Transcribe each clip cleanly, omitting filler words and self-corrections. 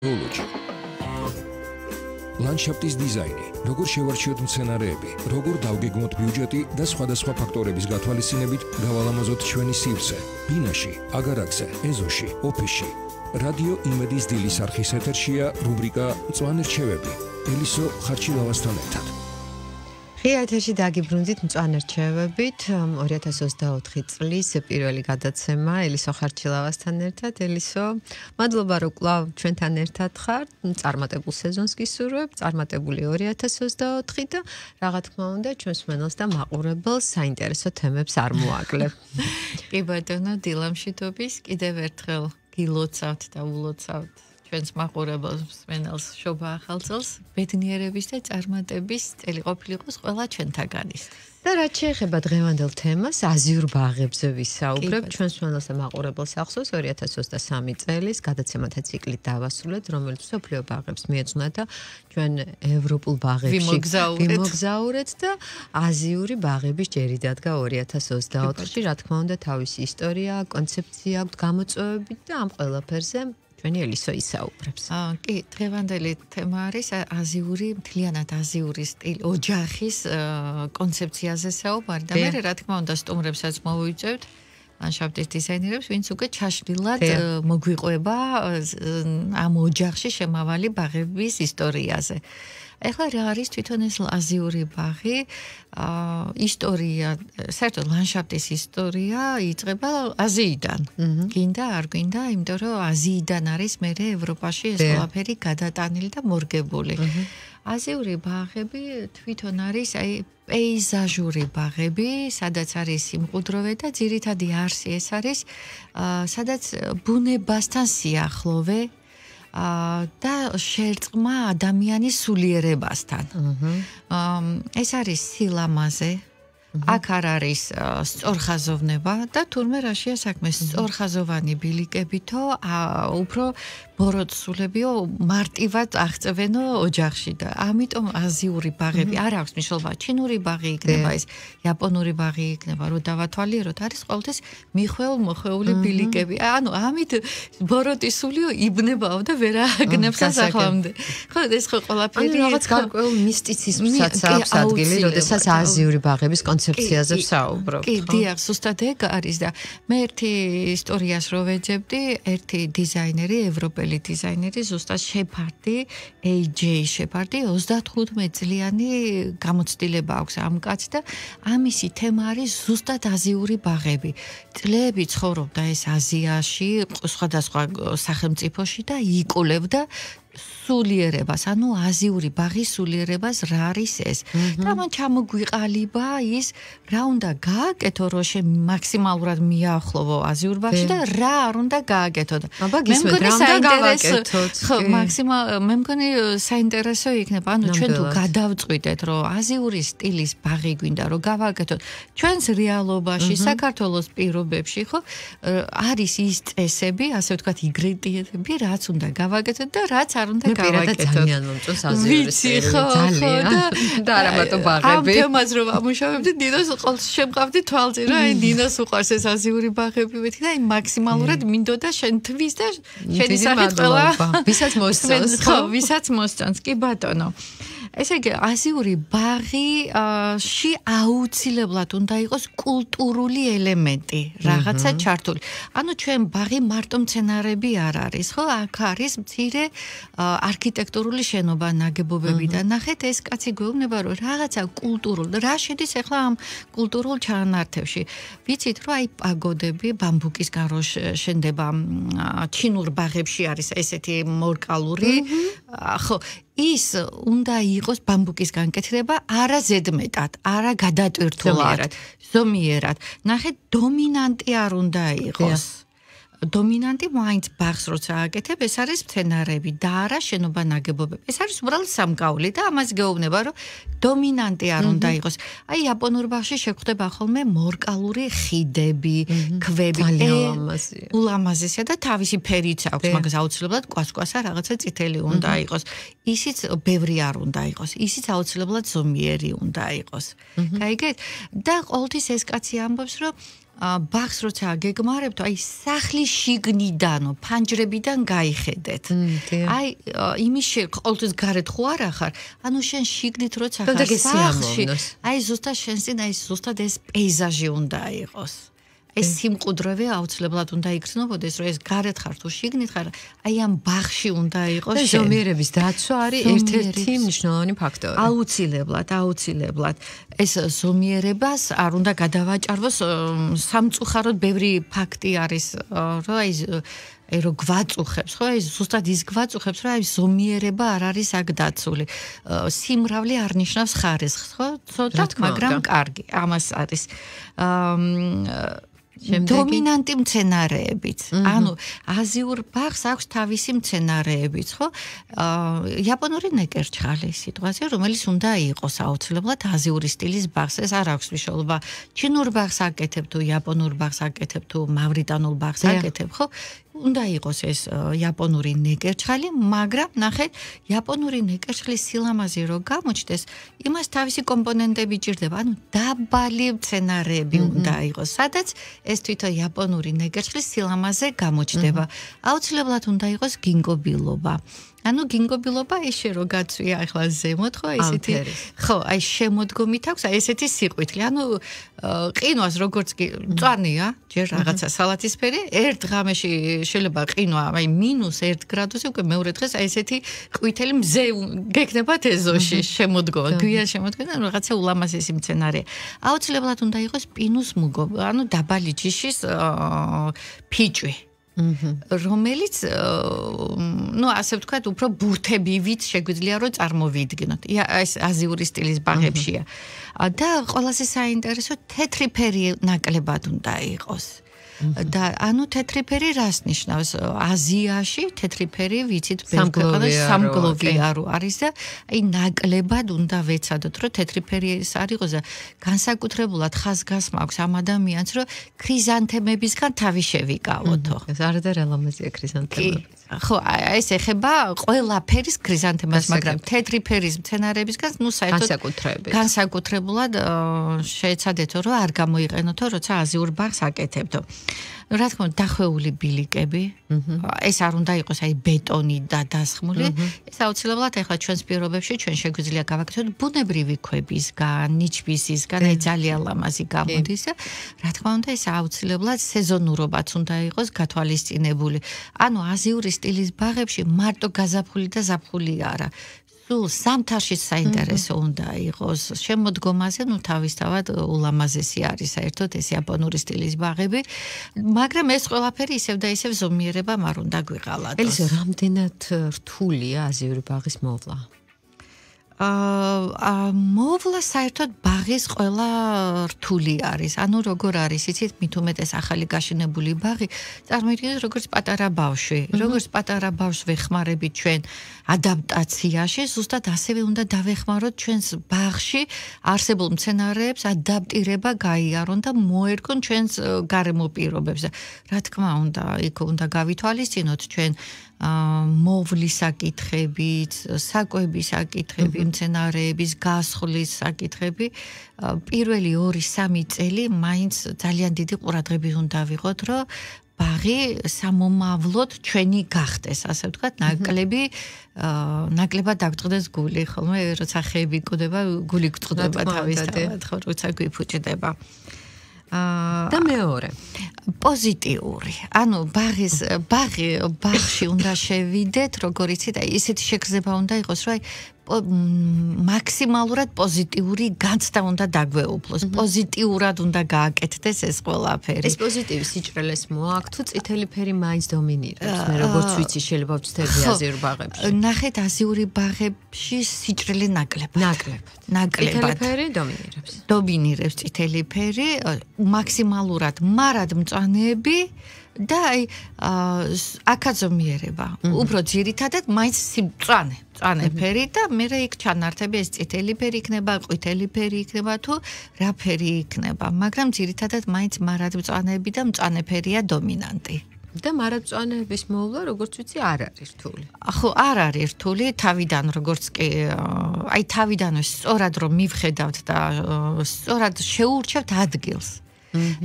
გეოლოგი. ლანდშაფტის დიზაინი, როგორ შევარჩიოთ მცენარეები, როგორ დავგეგმოთ ბიუჯეტი და სხვადასხვა ფაქტორების გათვალისწინებით გავალამაზოთ ჩვენი სივრცე, ბინაში, აგარაკზე, ეზოში, ოფისში. რადიო იმედის დილის არხის ეთერშია რუბრიკა მწვანე რჩევები. ელისო ხარჩილავასთან ერთად. ღია ეთერში დაგიბრუნდით მწვანე რჩევებით 2024 წლის პირველი გადაცემა ელისო ხარჩილავასთან ერთად. ელისო, მადლობა რომ კვლავ ჩვენთან ერთად ხართ. წარმატებულ სეზონს გისურვებ, წარმატებული 2024 და რა თქმა უნდა ჩვენს მენელს და მაყურებელს საინტერესო თემებს არ მოაკლებ. კი ბატონო, დილამშვიდობის, კიდევ ერთხელ გილოცავთ და ულოცავთ ჩვენს მაყურებელს მენელს შობა ახალ წელს, ბედნიერების და წარმატების წელი ყოფილიყოს ყველა ჩვენთაგანის. და რაც შეეხება დღევანდელ თემას, აზიურ ბაღებზე ვისაუბრებ. ჩვენს მენელს და მაყურებელს ახსოვს 2023 წელის გადაცემათა ციკლით დავასრულეთ, რომელიც მსოფლიო ბაღებს მიეძღვნა და ჩვენ ევროპულ ბაღებში ვიმოგზაურეთ და აზიური ბაღების ჯერი დადგა 2024-ში. რა თქმა უნდა, თავისი ისტორია, კონცეფცია აქვს, გამოწვევები და ამ ყველაფერზე ჩვენი ელისო ისაუბრებს. კი, დღევანდელი თემა არის აზიური, მთლიანად აზიური სტილი, ოჯახის კონცეფციაზე საუბარი და მე რა თქმა უნდა სტუმრებსაც მოვიწევთ, ლანდშაფტის დიზაინერებს, ვინც უკვე ჩაშლილად მოგვიყვება ამ ოჯახში შემავალი ბაღების ისტორიაზე. ეხლა რა არის თვითონ ეს აზიური ბაღი? ისტორია, საერთოდ ლანდშაფტის ისტორია იწყება აზიიდან. გინდა, არ გინდა, იმიტომ რომ აზიიდან არის მერე ევროპაში ეს ყველაფერი გადატანილი და მორგებული. აზიური ბაღები თვითონ არის პეიზაჟური ბაღები, სადაც არის სიმყუდროვე და ძირითადი არსი ეს არის, სადაც ბუნებასთან სიახლოვე და შერწყმა ადამიანის სულიერებასთან. ეს არის სილამაზე, აქ არ არის სწორხაზოვნება და თურმე რაშია საქმე, სწორხაზოვანი ბილიკებითო უფრო ბოროტსულებიო მარტივად აღწევენო ოჯახში და ამიტომ აზიური ბაღები არ აქვს მნიშვნელობა. ჩინური ბაღი იქნება ეს, იაპონური ბაღი იქნება, რო დავათვალიეროთ, არის ყოველთვის მიხვეულ-მოხვეული ბილიკები. ანუ ამით ბოროტისულიო იბნებაო და ვერ ააგნებს ასახლამდე. ხო, ეს ხო ყველაფერი რაღაც გარკვეულ მისტიციზმსაც აქვს ადგილი, როდესაც აზიური ბაღების კონცეფციაზე ვსაუბრობ. კი, დიახ, ზუსტად ეგ არის და მე ერთი ისტორიას რო ვეძებდი, ერთი დიზაინერი, ევროპელი დიზაინერი, ზუსტად შეფარდი, AJ შეფარდი, 35 წლიანი გამოცდილება აქვს ამ კაცს და ამისი თემა არის ზუსტად აზიური ბაღები. წლები ცხოვრობდა ეს აზიაში, სხვადასხვა სახელმწიფოში და იკვლევდა სულიერებას, ანუ აზიური ბაღის სულიერებას რა არის ეს. და მან ჩამოგვიყალიბა ის, რა უნდა გააკეთო, რომ მაქსიმალურად მიაახლოვო აზიურ ბაღში და რა არ უნდა გააკეთო. მე მგონი საინტერესო, მე მგონი საინტერესო იქნება, ანუ ჩვენ თუ გადავწყვიტეთ, რომ აზიური სტილის ბაღი გვინდა, რომ გავაკეთოთ ჩვენს რეალობაში, საქართველოს პირობებში, ხო, არის ის წესები, ასე ვთქვათ, ინგრედიენტები, რაც უნდა გავაკეთოთ და რაც არ უნდა გავაკეთოთ. ძალიან მომწონს აზიური სტილი, ძალიან და არა მარტო ბაღები. ამ თემას რომ ამუშავებდი, ნინოს ყოველთვის შემყავდი თვალწინ, რა, აი ნინოს უყვარს ეს აზიური ბაღები, მეთქი და აი მაქსიმალურად მინდოდა შენთვის და შენი სახით ყველა ვისაც მოსწონს, ხო, ვისაც მოსწონს, კი ბატონო. ესე იგი, აზიური ბაღში აუცილებლად უნდა იყოს კულტურული ელემენტი, რაღაცა ჩართული. ანუ ჩვენ ბაღი მარტო მცენარეები არ არის, ხო? აქ არის მცირე არქიტექტურული შენობა ნაგებობები და ნახეთ, ეს კაცი გვეუბნება, რომ რაღაცა კულტურულ, რა შედის ახლა ამ კულტურულ ჩანართებში. ვიცით, რომ აი პაგოდები ბამბუკისგან რო შენდება, ჩინურ ბაღებში არის ესეთი მორკალური, ხო, ის უნდა იყოს ბამბუკის განკეთება არა ზედმეტად, არა გადატვირთულად, ზომიერად. ნახეთ, დომინანტი არ უნდა იყოს. დომინანტი მაინც ბაღს როცა აკეთებ, ეს არის მცენარეები და არა შენობა ნაგებობები. ეს არის უბრალოდ სამკაული და ამას გეუბნება, რომ დომინანტი არ უნდა იყოს. აი იაპონურ ბაღში შეგვხვდება ხოლმე მორკალური ხიდები, ქვები, ულამაზესია და თავისი ფერიც აქვს, მაგას აუცილებლად კვასკვასა რაღაცა წითელი უნდა იყოს. ისიც ბევრი არ უნდა იყოს. ისიც აუცილებლად ზომიერი უნდა იყოს. გაიგეთ? და ყოველთვის ეს კაცი ამბობს, რომ ბაღს როცა გეგმარებთ, აი სახლის შიგნიდანო, ფანჯრებიდან გაიხედეთ. აი იმის ყოველთვის გარეთ ხო არ ახარ? ანუ შენ შიგნით როცა ხარ სახლში, აი ზუსტად შენ წინ აი ზუსტად ეს პეიზაჟი უნდა იყოს. ეს სიმყუდროვე აუცილებლად უნდა იგრძნობოდეს, რომ ეს გარეთ ხარ თუ შიგნით ხარ, აი ამ ბაღში უნდა იყოს შენ. ზომიერების დაცვა არის ერთ-ერთი მნიშვნელოვანი ფაქტორი. აუცილებლად. ეს ზომიერებას არ უნდა გადავაჭარბოს სამწუხაროდ ბევრი ფაქტი არის, რომ აი რო გვაწუხებს, ხო, აი ზუსტად ის გვაწუხებს, რომ აი ზომიერება არ არის აქ დაცული. სიმრავლე არ ნიშნავს ხარისხს, ხო? ცოტა, მაგრამ კარგი, ამას არის. დომინანტი მცენარეებიც. ანუ აზიურ ბაღს აქვს თავისი მცენარეებიც, ხო? იაპონური ნეკერჩხალი სიტყვაზე, რომელიც უნდა იყოს აუცილებლად აზიური სტილის ბაღს. ეს არ აქვს მნიშვნელობა. ჩინურ ბაღს აკეთებ თუ იაპონურ ბაღს აკეთებ თუ მავრიტანულ ბაღს აკეთებ, ხო? უნდა იყოს ეს იაპონური ნეკერჩხალი, მაგრამ ნახეთ, იაპონური ნეკერჩხლის სილამაზე რო გამოჩნდეს, იმას თავისი კომპონენტები ჭირდება, ანუ დაბალი მცენარეები უნდა იყოს, სადაც ეს თვითონ იაპონური ნეკერჩხლის სილამაზე გამოჩნდება. აუცილებლად უნდა იყოს გინგობილობა. ანუ გინგობილობა ისე რო გაცვია ახლა ზემოთ, ხო, ესეთი ხო, აი შემოდგომით აქვს, აი ესეთი სიყვითლე. ანუ ყინვას როგორც კი მწვანეა, ჯერ რაღაცა სალათისფერი, ერთ ღამეში შეიძლება ყინვა აი -1 გრადუსი, უკვე მეორე დღეს აი ესეთი ყვითელი მზე გექნება ეზოში შემოდგომა, გვიან შემოდგომა, რაღაცა ულამაზესი მცენარეა. აუცილებლად უნდა იყოს პინუს მუგო, ანუ დაბალი ჯიშის ფიჭვი. რომელიც ну ასე ვთქვათ უფრო ბურთებივით შეგვიძლია რომ წარმოვიდგინოთ. ეს აზიური სტილის ბაღებშია. და ყველაზე საინტერესო თეთრი ფერი ნაკლებად უნდა იყოს. და ანუ თეთრი ფერი რას ნიშნავს? აზიაში თეთრი ფერი ვიცით სამგლოვიარო არის და აი ნაკლებად უნდა ვეცადოთ რომ თეთრი ფერი არ იყოს და განსაკუთრებულად ხაზგასმა აქვს ამ ადამიანს რომ ქრიზანთემებისგან თავი შევიკავოთო. ეს არადარალამაზია ქრიზანთემები. ხო, ეს ეხება ყველა ფერის ქრიზანთემას, მაგრამ თეთრი ფერის მცენარეებისგან ნუ საერთოდ განსაკუთრებულად შეეცადეთო რომ არ გამოიყენოთო, როცა აზიურ ბაღს აკეთებთო. რა თქმა უნდა, დახვეული ბილიკები, ეს არ უნდა იყოს აი ბეტონი და დასხმული, ეს აუცილებლად ახლა ჩვენს პირობებში ჩვენ შეგვიძლია გავაკეთოთ ბუნებრივი ქვებისგან, ნიჩბისისგან, აი ძალიან ლამაზი გამოდის და რა თქმა უნდა, ეს აუცილებლად სეზონურობაც უნდა იყოს გათვალისწინებული. ანუ აზიური სტილის ბაღებში მარტო გაზაფხული და ზაფხული არა. სულ სამთარში საინტერესო უნდა იყოს შემოდგომაზე, ну თავისთავად ულამაზესი არის საერთოდ ეს იაპონური სტილის ბაღები, მაგრამ ეს ყველაფერი ისევ და ისევ ზომიერებამ არ უნდა გვიყალატოს. ელისო, რამდენად რთულია აზიური ბაღის მოვლა? მოვლა საერთოდ ბაღის ყველა რთული არის. ანუ როგორ არის, იცით, მით უმეტეს ახალი გაშენებული ბაღი, წარმოიდგინეთ როგორც პატარა ბავშვი. როგორც პატარა ბავშვს ვეხმარებით ჩვენ ადაპტაციაში, ზუსტად ასევე უნდა დავეხმაროთ ჩვენს ბაღში არსებულ მცენარეებს ადაპტირება გაიარონ და მოერგონ ჩვენს გარემო პირობებს. რა თქმა უნდა, იქ უნდა გავითვალისწინოთ ჩვენ მოვლის საკითხებით, საკვების საკითხები, მცენარეების გასხლის საკითხები. პირველი 2-3 წელი მაინც ძალიან დიდი ყურადღებით უნდა ვიღოთ, რომ ბაღი სამომავლოდ ჩვენი გახდეს, ასე ვთქვათ, ნაკლებად დაგწყდეს გული, ხოლმე როცა ხეები გკვდება, გული გწყდება თავისთავად, ხო, როცა გვიფუჭდება. და მეორე პოზიტიური. ანუ ბაღში უნდა შევიდეთ, როგორ იცით, აი ესეთი შეგრძნება უნდა იყოს, რომ აი მაქსიმალურად პოზიტიური განცდა უნდა დაგვეუფლოს. პოზიტიურად უნდა გააკეთდეს ეს ყველაფერი. ეს პოზიტივი სიჭრელეს მოაქვს თუ წითელი ფერი მაინც დომინირებს? მე როგორც ვიცი, შეიძლება ვწდები აზიურ ბაღებში. ნახეთ, აზიური ბაღებში სიჭრელე ნაკლებად. წითელი ფერი დომინირებს. დომინირებს წითელი ფერი, მაქსიმალურად მარად მწვანეები და აი აკაზომიერება. უფრო ძირითადად მაინც მწვანე ფერი და მე იქ ჩანართები ეს წითელი ფერი იქნება, ყვითელი ფერი იქნება თუ რა ფერი იქნება, მაგრამ ძირითადად მაინც მარად მწვანეები და მწვანე ფერია დომინანტი. და მარადმწვანეების მოვლა, როგორც ვიცი, არ არის რთული. ხო, არ არის რთული, თავიდან როგორც კი აი თავიდან სწორად რომ მივხედავთ და სწორად შეურჩევთ ადგილს.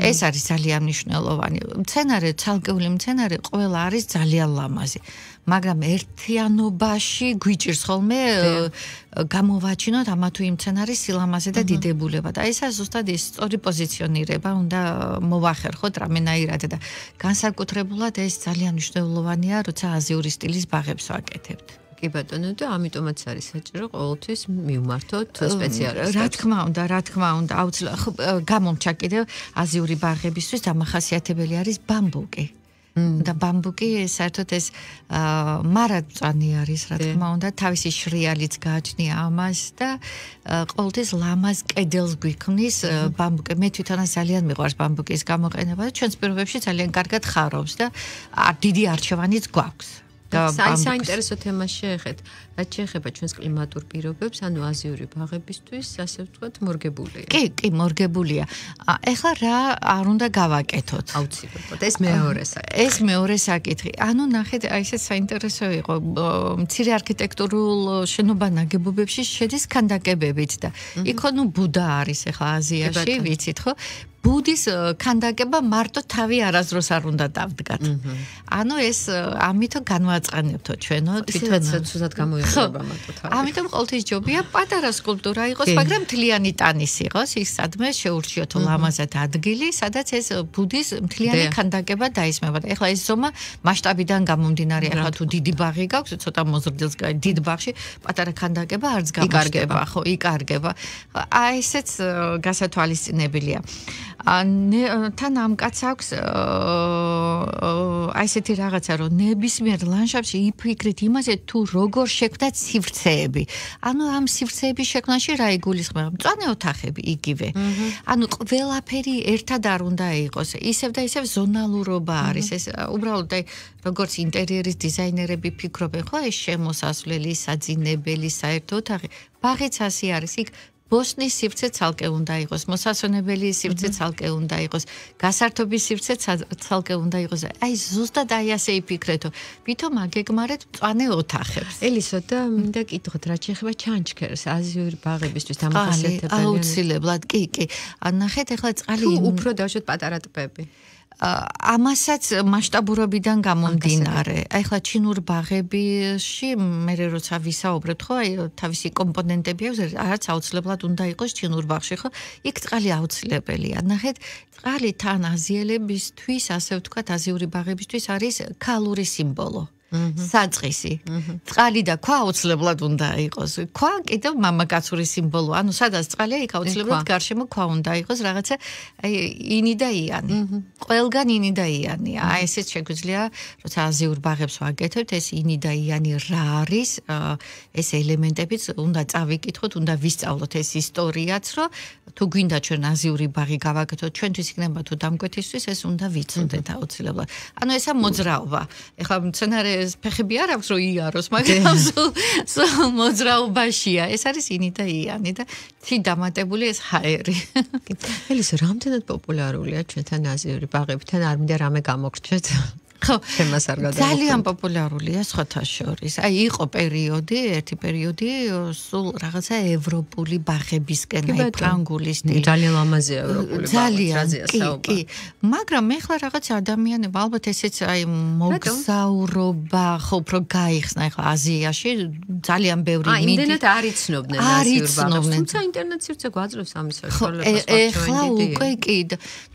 ეს არის ძალიან მნიშვნელოვანი. მცენარე, ცალკეული მცენარე ყველა არის ძალიან ლამაზი. მაგრამ ერთიანობაში გვიჭირს ხოლმე გამოვაჩინოთ ამა თუ იმ მცენარის სილამაზე და დიდებულება და ესა ზუსტად ის სწორი პოზიციონირება უნდა მოვახერხოთ რამენაირად და განსაკუთრებულად ეს ძალიან მნიშვნელოვანია, როცა აზიური სტილის ბაღებს ვაკეთებთ. კი ბატონო და ამიტომაც არის საჭირო ყოველთვის მივმართოთ სპეციალისტებს. რა თქმა უნდა, აუცილებლად გამომჩა კიდევ აზიური ბაღებისთვის დამახასიათებელი არის ბამბუკი. და ბამბუკი საერთოდ ეს მარადმწვანე არის, რა თქმა უნდა, თავისი შრიალიც გააჩნია ამას და ყოველთვის ლამაზ კედელს გვიქმნის ბამბუკი. მე თვითონაც ძალიან მიყვარს ბამბუკის გამოყენება და ჩვენს პირობებში ძალიან კარგად ხარობს და დიდი არჩევანიც გვაქვს. საინტერესო თემას შეეხეთ. რაც შეეხება ჩვენს კლიმატურ პირობებს, ანუ აზიური ბაღებისთვის, ასე ვთქვათ, მორგებულია. კი, მორგებულია. ეხლა რა არ უნდა გავაკეთოთ? აუცილებლად. ეს მეორე საკითხი. ანუ ნახეთ, აი ეს საინტერესო იყო. მცირე არქიტექტურულ შენობა ნაგებობებში შედის ქანდაკებებით და იქ ბუდა არის ეხლა აზიაში, ვიცით ხო? ბუდის ქანდაკება მარტო თავი არასდროს არ უნდა დავდგათ. ანუ ეს ამიტომ განვაწყენებთო ჩვენო თვითონაც ცუდად გამოიყურება მარტო თავი. ამიტომ ყოველთვის ჯობია პატარა სკულპტურა იყოს, მაგრამ მთლიანი ტანის იყოს, ის სადმე შეურჩიოთ ლამაზად ადგილი, სადაც ეს ბუდის მთლიანი ქანდაკება დაისმება. ეხლა ეს ზომა მასშტაბიდან გამომდინარე, ეხლა თუ დიდი ბაღი გაქვს, ცოტა მოზრდილს დიდ ბაღში პატარა ქანდაკება არც გამარჯდება, ხო, იკარგება. აი ესეც გასათვალისწინებელია. თან ამ კაც აქვს აი ესეთი რაღაცა, რომ ნებისმიერ ლანდშაფტში იფიქრეთ იმაზე, თუ როგორ შექმნა სივრცეები. ანუ ამ სივრცეების შექმნაში რა იგულისხმება? მწვანე ოთახები იგივე. ანუ ყველაფერი ერთად არ უნდა იყოს. ისევ და ისევ ზონალურობა არის. ეს უბრალოდ აი როგორც ინტერიერის დიზაინერები ფიქრობენ, ხო, ეს შემოსასვლელი, საძინებელი, საერთო ოთახი. ბაღიც ასე არის. იქ ბოსნის სივრცე ცალკე უნდა იყოს, მოსასვენებელი სივრცე ცალკე უნდა იყოს, გასართობის სივრცე ცალკე უნდა იყოს. აი ზუსტად აი ასე იფიქრეთო. ვითომ აგეგმარეთ მწვანე ოთახებს. ელისო და მინდა კითხოთ, რა შეეხება ჩანჩქერს აზიური ბაღებისთვის დამახასიათებელია? აუცილებლად, კი. ნახეთ, ეხლა წყალი უფრო დავშოთ პატარა ტბები. ამასაც მასშტაბურობიდან გამომდინარე. აი ხლა ჩინურ ბაღებში მე როცა ვისაუბრებ, ხო, აი თავისი კომპონენტები აქვს, რაც აუცილებლად უნდა იყოს ჩინურ ბაღში, ხო? იქ წყალი აუცილებელია. ნახეთ, წყალი თან აზიელებისთვის, ასე ვთქვათ, აზიური ბაღებისთვის არის ქალური სიმბოლო. საწყისი. წყალი და ქვა აუცილებლად უნდა იყოს. ქვა კიდევ მამაკაცური სიმბოლო. ანუ სადაც წყალია, იქ აუცილებლად გარშემო ქვა უნდა იყოს, რაღაცა აი ინი და იანი. ყველგან ინი და იანია. აი ესეც შეგვიძლია, როცა აზიურ ბაღებს ვაკეთებთ, ეს ინი და იანი რა არის, ეს ელემენტებიც უნდა წავიკითხოთ, უნდა ვისწავლოთ ეს ისტორიაც, რომ თუ გვინდა ჩვენ აზიური ბაღი გავაკეთოთ, ჩვენთვის იქნება თუ დამკვეთისთვის, ეს უნდა ვიცოდეთ აუცილებლად. ანუ ესა მოძრაობა. ეხლა მცენარე ფეხები არ აქვს რომ იაროს, მაგრამ სულ მოძრაობაშია. ეს არის ინი და იანი და თი დამატებული ეს ჰაერი. ელისო, რამდენად პოპულარულია ჩვენთან აზიური ბაღები? თან არ მინდა რამე გამოგრჩეთ. ხო, ძალიან პოპულარულია სხვათა შორის. აი იყო ერთი პერიოდი სულ რაღაცა ევროპული ბაღებისკენ, აი ფრანგული სტილი. ძალიან ლამაზია ევროპული ბაღი, კი. მაგრამ ეხლა რაღაც ადამიანები ალბათ ესეც აი მოგზაურობა, ხო, უფრო გაიხსნა ეხლა აზიაში ძალიან ბევრი იმდენად არ იცნობდნენ აზიურ ბაღებს, თუმცა ინტერნეტ სივრცე გვაძლევს ამის საშუალებას. ეხლა უკვე კი,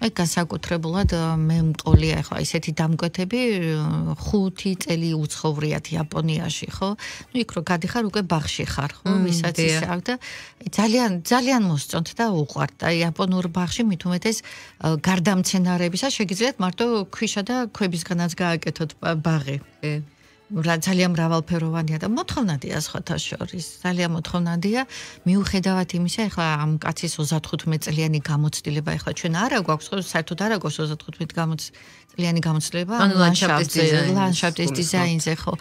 აი განსაკუთრებულად მე მყოლია ეხლა ესეთი დამკვეთები 5 წელი უცხოვრიათ იაპონიაში, ხო? ნუ იქ რო გადიხარ უკვე ბაღში ხარ, ხო? ვისაც ისე აქვს და ძალიან მოსწონთ და უყვართ. და იაპონურ ბაღში მით უმეტეს გარდა მცენარეებისა შეგიძლიათ მარტო ქვიშა და ქვებისგანაც გააკეთოთ ბაღი. ძალიან მრავალფეროვანია და მოთხოვნადია სხვათა შორის. ძალიან მოთხოვნადია მიუხედავად იმისა, ეხლა ამ კაცის 35 წლიანი გამოცდილება, ეხლა ჩვენ არა გვაქვს, საერთოდ არა გვაქვს 35 წლიანი გამოცდილება ლანდშაფტის დიზაინზე, ხო.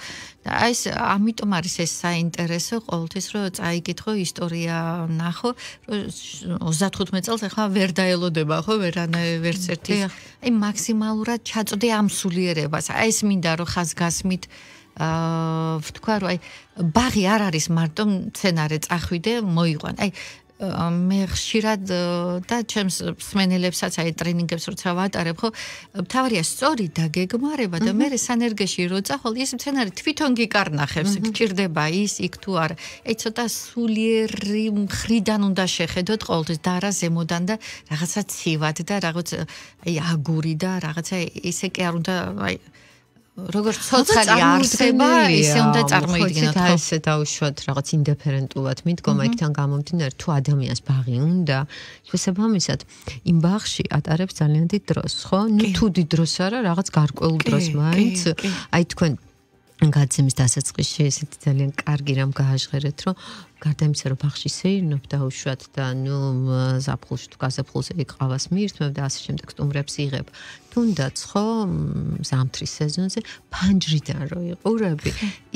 და აი ეს ამიტომ არის ეს საინტერესო ყოველთვის რომ წაიკითხო ისტორია ნახო, 35 წელს ეხლა ვერ დაელოდება, ხო, ვერც ერთი. აი მაქსიმალურად ჩაწვდე ამ სულიერებას. აი ეს მინდა რომ ხაზგასმით ვთქვა რომ აი ბაღი არ არის მარტო მცენარე წახვიდე მოიყვან. აი მე ხშირად და ჩემს მსმენელებსაც აი ტრენინგებს როცა ვატარებ, ხო, თავარია სწორი დაგეგმარება და მე სანერგეში როცა ხოლ ის მცენარე თვითონ გიკარნახებს, გჭირდება ის იქ თუ არა. აი ცოტა სულიერი მხრიდან უნდა შეხედოთ ყოველთვის და არა ზემოდან და რაღაცა ცივად და რაღაც აი აგური და რაღაცა ისე კი არ უნდა აი როგორც ცოცხალი არსება, ისე უნდა წარმოიდგინოთ. ხო, ესე დაუშვათ რაღაც ინდიფერენტულად მიდგომა იქთან გამომდინარე, თუ ადამიანს ბაღი უნდა, შესაბამისად, იმ ბაღში ატარებს ძალიან დიდ დროს, ხო? ნუ თუ დიდ დროს არა, რაღაც გარკვეულ დროს მაინც, აი თქვენ გაცემის დასაწყისში ესეთი ძალიან კარგი რამ გააჟღერეთ, რომ გარდა იმისა, რომ ბაღში სეირნობ დაუშვათ და ნუ ზაფხულში თუ გაზაფხულზე იყავას მიირთმევ და ასე შემდეგ სტუმრებს იღებ. თუნდაც ხო ზამთრის სეზონზე ფანჯრიდან რო იყურები,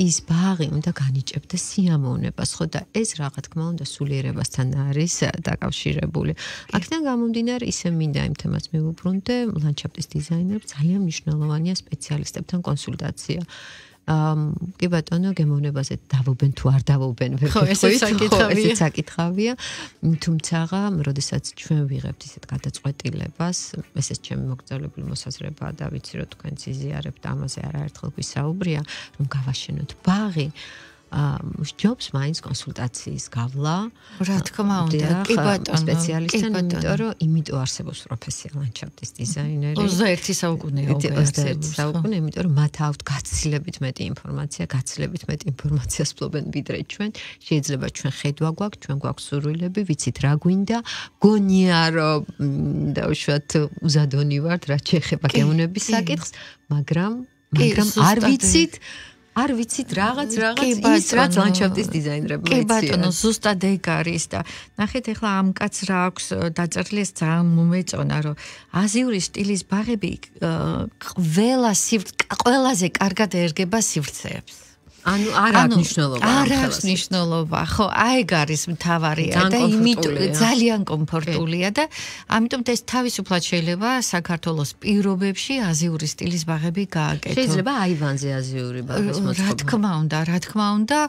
ის ბაღი უნდა განიჭებდა სიამოვნებას, ხო და ეს რა თქმა უნდა სულიერებასთან არის დაკავშირებული. აქედან გამომდინარე ისე მინდა იმ თემას მივუბრუნდე, ლანდშაფტის დიზაინერებს ძალიან მნიშვნელოვანია სპეციალისტებთან კონსულტაცია. კი ბატონო, გემოვნებაზე დავობენ თუ არ დავობენ, ვერ გეტყვით, ესეც საკითხავია. თუმცა, როდესაც ჩვენ ვიღებთ ისეთ გადაწყვეტილებას, ესეც ჩემი მოგრძალებული მოსაზრებაა და ვიცი, რომ თქვენ ზიზიარებთ ამაზე არაერთხელ გვისაუბრია, რომ გავაშენოთ ბაღი. ჯობს მაინც კონსულტაციის გავლა. რა თქმა უნდა, კი ბატონო, სპეციალისტთან, იმიტომ არსებობს პროფესია ლანდშაფტის დიზაინერი. 21 საუკუნეა, 21 საუკუნე, იმიტომ რომ მათ აქვთ გაცილებით მეტი ინფორმაცია, გაცილებით მეტი ინფორმაციას ფლობენ ვიდრე ჩვენ. შეიძლება ჩვენ ხედვა გვაქვს, ჩვენ გვაქვს სურვილები, ვიცით რა გვინდა, გონია რომ დაუშვათ უზადონი ვართ, რაც შეეხება გემოვნების საკითხს, მაგრამ არ ვიცით რაღაც ის რაც ლანდშაფტის დიზაინერებმა იციან. კი ბატონო, ზუსტად ეგ არის და ნახეთ ახლა ამ კაცს რა აქვს დაწერილი, ეს ძალიან მომეწონა, რომ აზიური სტილის ბაღები ყველაზე კარგად ერგება სივრცეებს. ანუ არ აქვს მნიშვნელობა. არ აქვს მნიშვნელობა, ხო, აი ეგ არის მთავარია და იმიტომ ძალიან კომფორტულია და ამიტომ ეს თავისუფლად შეიძლება საქართველოს პირობებში აზიური სტილის ბაღები გააკეთო. შეიძლება აივანზე აზიური ბაღის მოწყობა. რა თქმა უნდა,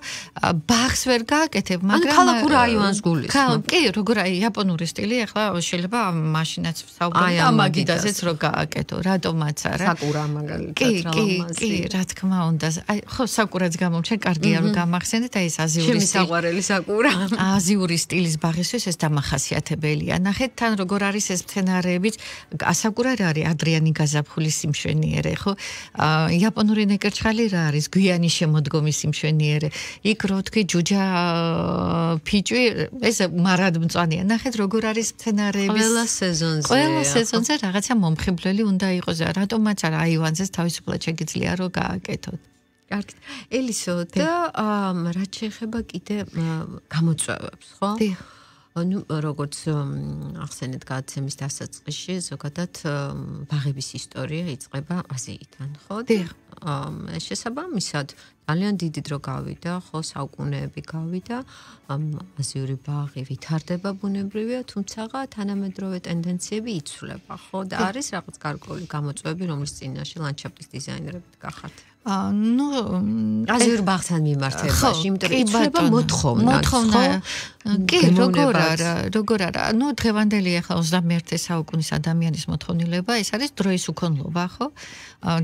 ბაღს ვერ გააკეთებ, მაგრამ ქალაქურ აივანს გულისხმობ. კი, როგორ აი იაპონური სტილი, ახლა შეიძლება მაშინაც ვსაუბრობთ ამ მაგიდაზეც რო გააკეთო, რატომაც არა. საკურა მაგალითად კი, რა თქმა უნდა. აი ხო, საკურაც გამომჩენ, კარგია რომ გამახსენეთ, აი ეს აზიური სტილი. ჩემი საყვარელი საკურა. აზიური სტილის ბაღისთვის ეს დამახასიათებელია. ნახეთ თან როგორ არის ეს მცენარეებიც, ასაკურა რა არის, ადრიანი გაზაფხულის სიმშვენიერე, ხო? იაპონური ნეკერჩხალი რა არის, გვიანი შემოდგომის სიმშვენიერე. იქ რო თქვი ჯუჯა ფიჭვი, ეს მარადმწვანეა. ნახეთ როგორ არის მცენარეების ყველა სეზონზე რაღაცა მომხიბვლელი უნდა იყოს. რატომაც არა აივანზეც თავისუფლად შეგიძლია რომ გააკეთოთ. კარგით. ელისო და რაც შეეხება კიდე გამოწვევებს, ხო? ნუ როგორც ახსენეთ გადაცემის დასაწყისში, ზოგადად ბაღების ისტორია იწყება აზიიდან, ხო? შესაბამისად ძალიან დიდი დრო გავიდა, ხო, საუკუნეები გავიდა, აზიური ბაღი ვითარდება ბუნებრივია, თუმცა თანამედროვე ტენდენციები იცვლება, ხო? და არის რაღაც გარკვეული გამოწვევები, რომლის წინაშე ლანდშაფტის დიზაინერები გახართ. ნუ აზიურ ბაღთან მიმართებაში, იმიტომ რომ იცვლება მოთხოვნა. კი, როგორ არა. ნუ დღევანდელი ახლა 21 საუკუნის ადამიანის მოთხოვნილება, ეს არის დროის უქონლობა, ხო?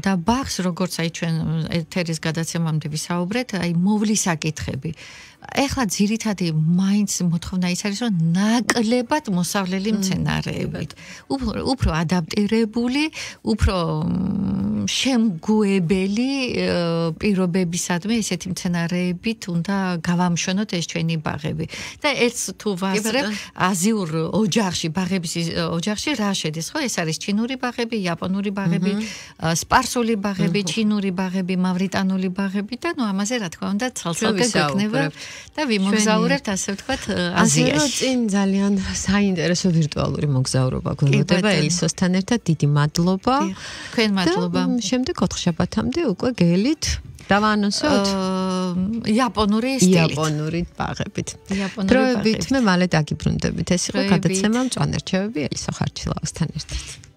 და ბაღს როგორც აი ჩვენ ეთერის გადაცემამდე ვისაუბრეთ, აი მოვლის საკითხები. ეხლა ძირითადი მაინც მოთხოვნა ის არის, რომ ნაკლებად მოსავლელი მცენარეებით. უფრო ადაპტირებული, უფრო შემგუებელი პირობებისადმი ესეთი მცენარეებით უნდა გავამშვენოთ ეს ჩვენი ბაღები. და ერთ თუ ვაზრებ აზიურ ოჯახში, ბაღების ოჯახში რა შედის, ხო? ეს არის ჩინური ბაღები, იაპონური ბაღები, სპარსული ბაღები, ჩინური ბაღები, მავრიტანული ბაღები და ნუ ამაზე რა თქმა უნდა ცალ-ცალკე გვექნება და ვიმოგზაურებთ ასე ვთქვათ აზიაში. წინ ძალიან საინტერესო ვირტუალური მოგზაურობა გვეუბნება ელისოსთან ერთად. დიდი მადლობა. თქვენ მადლობა. შემდეგ 4 შაბათამდე უკვე გელით დავაანონსოთ იაპონური სტილით. იაპონური ბაღებით. დროებით მე მალე დაგიბრუნდებით. ეს იყო გადაცემა მწვანე რჩევები ელისო ხარჩილავასთან ერთად.